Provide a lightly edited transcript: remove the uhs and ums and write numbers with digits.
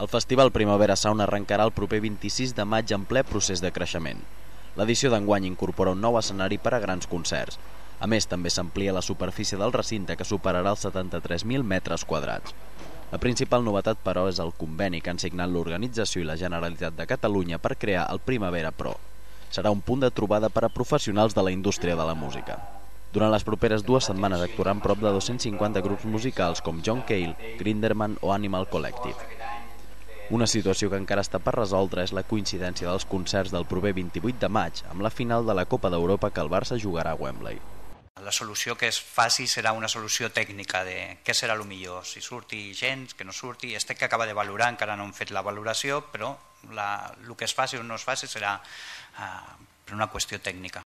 El Festival Primavera Sound arrencarà el proper 26 de maig en ple procés de creixement. L'edició d'enguany incorpora un nou escenari per a grans concerts. A més, també s'amplia la superfície del recinte, que superarà els 73.000 metres quadrats. La principal novetat, però, és el conveni que han signat l'organització i la Generalitat de Catalunya per crear el Primavera Pro. Serà un punt de trobada per a professionals de la indústria de la música. Durant les properes 2 setmanes actuaran prop de 250 grups musicals com John Cale, Grinderman o Animal Collective. Una situació que encara està per resoldre és la coincidència dels concerts del proper 28 de maig amb la final de la Copa d'Europa que el Barça jugarà a Wembley. La solució que es faci serà una solució tècnica de què serà el millor, si surti gens, que no surti. Este que acaba de valorar, encara no hem fet la valoració, però el que es faci o no es faci serà per una qüestió tècnica.